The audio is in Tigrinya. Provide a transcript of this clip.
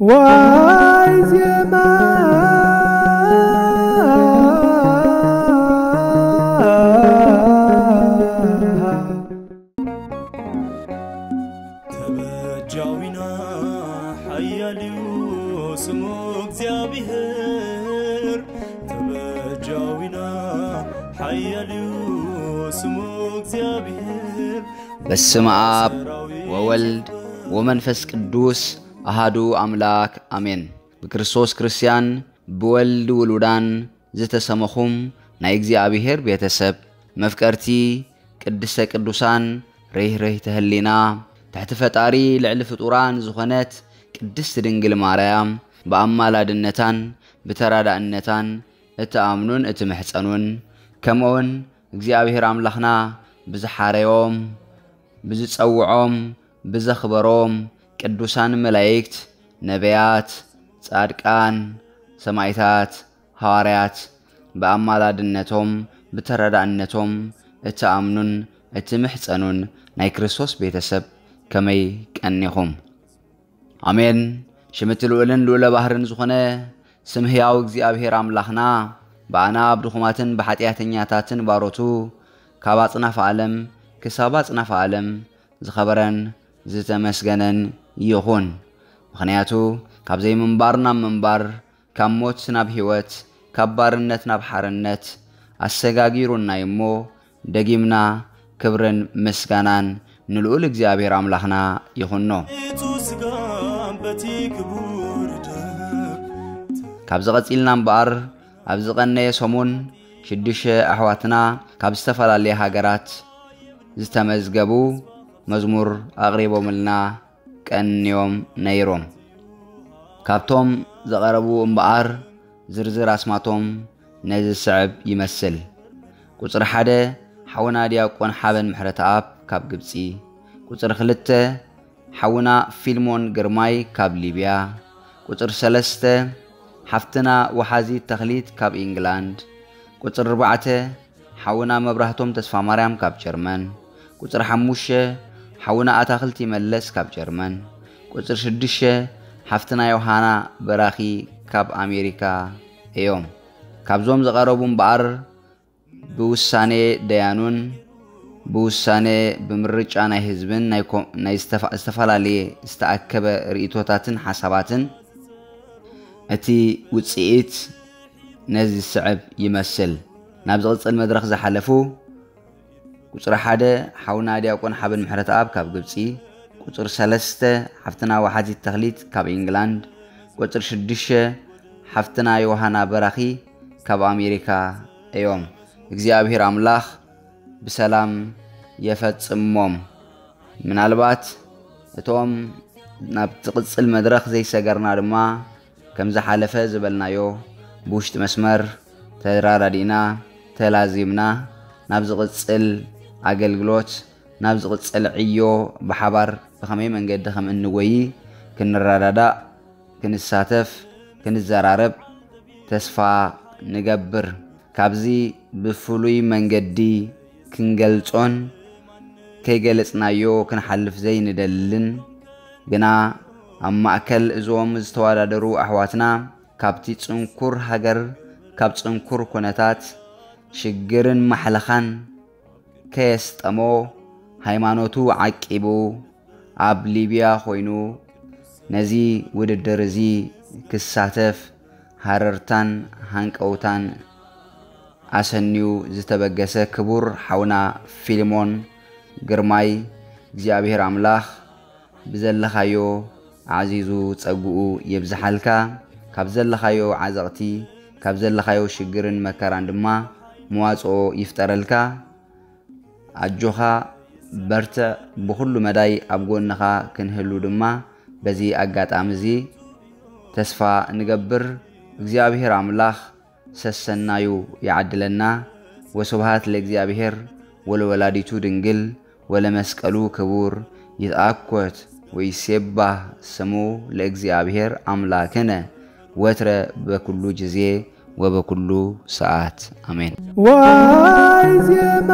ዋይ ዜማ ተበጃዊና ሓያል እዩ ስሙ እግዚኣብሔር። ተበጃዊና ሓያል እዩ ስሙ እግዚኣብሔር። በስመ አብ ወወልድ ወመንፈስ ቅዱስ አሃዱ አምላክ አሜን። ብክርስቶስ ክርስቲያን ብወልድ ውሉዳን ዝተሰመኹም ናይ እግዚኣብሔር ቤተሰብ መፍቀርቲ ቅድስተ ቅዱሳን ርህርህተ ህሊና ትሕቲ ፈጣሪ ልዕሊ ፍጡራን ዝኾነት ቅድስት ድንግል ማርያም ብኣማላድነታን ብተራዳእነታን እትኣምኑን እትምሕጸኑን ከምኡውን እግዚኣብሔር ኣምላኽና ብዝሓረዮም ብዝጸውዖም ብዘኽበሮም ቅዱሳን መላእክት ነቢያት ጻድቃን ሰማይታት ሃዋርያት ብኣማላድነቶም ብተረዳእነቶም እትኣምኑን እትምሕጸኑን ናይ ክርስቶስ ቤተሰብ ከመይ ቀኒኹም። ኣሜን። ሽምቲ ልኡልን ልኡለ ባህርን ዝኾነ ስም ህያው እግዚኣብሔር ኣምላኽና ብኣና ኣብ ድኹማትን ብሓጢኣተኛታትን ባሮቱ ካብ ኣጽናፍ ዓለም ክሳብ ኣጽናፍ ዓለም ዝኸበረን ዝተመስገነን ይኹን። ምኽንያቱ ካብ ዘይምንባር ናብ ምንባር ካብ ሞት ናብ ህይወት ካብ ባርነት ናብ ሓርነት ኣሰጋጊሩና እሞ ደጊምና ክብርን ምስጋናን ንልኡል እግዚኣብሔር ኣምላኽና ይኹኖ። ካብዚ ቐጺልና እምበኣር ኣብ ዝቐነየ ሰሙን ሽዱሽተ ኣሕዋትና ካብ ዝተፈላለየ ሃገራት ዝተመዝገቡ መዝሙር ኣቕሪቦምልና ቀንዮም ነይሮም። ካብቶም ዘቐረቡ እምበኣር ዝርዝር ኣስማቶም ነዚ ዝስዕብ ይመስል። ቁጽሪ ሓደ ሓውና ዲያቆን ሓበን ምሕረተኣብ ካብ ግብጺ፣ ቁጽሪ ክልተ ሓውና ፊልሞን ግርማይ ካብ ሊብያ፣ ቁጽሪ ሰለስተ ሓፍትና ወሓዚት ተኽሊት ካብ ኢንግላንድ፣ ቁጽሪ ኣርባዕተ ሓውና መብራህቶም ተስፋማርያም ካብ ጀርመን፣ ቁጽሪ ሓሙሽተ ሓውና ኣታኽልቲ መለስ ካብ ጀርመን፣ ቁጽሪ ሽዱሽተ ሓፍትና ዮሃና በራኺ ካብ ኣሜሪካ እዮም። ካብዞም ዝቐረቡ እምበኣር ብውሳኔ ደያኑን ብውሳኔ ብምርጫ ናይ ህዝብን ናይ ኮ-፣ ናይ ዝተፋ-፣ ዝተፈላለየ ዝተኣከበ ርእይቶታትን ሓሳባትን እቲ ውጽኢት ነዚ ዝስዕብ ይመስል። ናብ ዝቕጽል መድረኽ ዝሓለፉ ቁጽሪ ሓደ ሓውና ዲያቆን ሓበን ምሕረተኣብ ካብ ግብጺ፣ ቁጽሪ ሰለስተ ሓፍትና ወሓዚት ተኽሊት ካብ ኢንግላንድ፣ ቁጽሪ ሽዱሽተ ሓፍትና ዮሃና በራኺ ካብ ኣሜሪካ እዮም። እግዚኣብሔር ኣምላኽ ብሰላም የፈጽሞም። ምናልባት እቶም ናብ ትቕጽል መድረኽ ዘይሰገርና ድማ ከም ዝሓለፈ ዝበልናዮ ብውሽጢ መስመር ተራዳዲእና ተላዚምና ናብ ዝቕጽል ኣገልግሎት ናብ ዝቕጽል ዕዮ ብሓባር ብኸመይ መንገዲ ከም እንጎይ ክንረዳዳእ ክንሳተፍ ክንዘራረብ ተስፋ ንገብር። ካብዚ ብፍሉይ መንገዲ ክንገልጾን ከይገለጽናዮ ክንሓልፍ ዘይንደልን ግና ኣብ ማእከል እዞም ዝተወዳደሩ ኣሕዋትና ካብቲ ጽንኩር ሃገር ካብ ጽንኩር ኩነታት ሽግርን ማሕለኻን ከየስጠሞ ሃይማኖቱ ዓቂቡ ኣብ ሊብያ ኮይኑ ነዚ ውድድር እዚ ክሳተፍ ሃረርታን ሃንቀውታን ኣሰንዩ ዝተበገሰ ክቡር ሓውና ፊልሞን ግርማይ እግዚኣብሔር ኣምላኽ ብዘለኻዮ ኣዕዚዙ ጸግኡ የብዝሓልካ። ካብ ዘለኻዮ ዓዘቕቲ ካብ ዘለኻዮ ሽግርን መከራን ድማ መዋጽኦ ይፍጠረልካ። ኣጆኻ በርትዕ፣ ብኹሉ መዳይ ኣብ ጎንኻ ክንህሉ ድማ በዚ ኣጋጣሚ እዚ ተስፋ ንገብር። እግዚኣብሔር ኣምላኽ ሰሰናዩ ይዓድለና። ወስብሃት ለእግዚኣብሔር ወለወላዲቱ ድንግል ወለመስቀሉ ክቡር። ይትኣኮት ወይሴባህ ስሙ ለእግዚኣብሔር ኣምላክነ ወትረ በኩሉ ጊዜ ወበኩሉ ሰዓት። ኣሜን። ዋይ ዜማ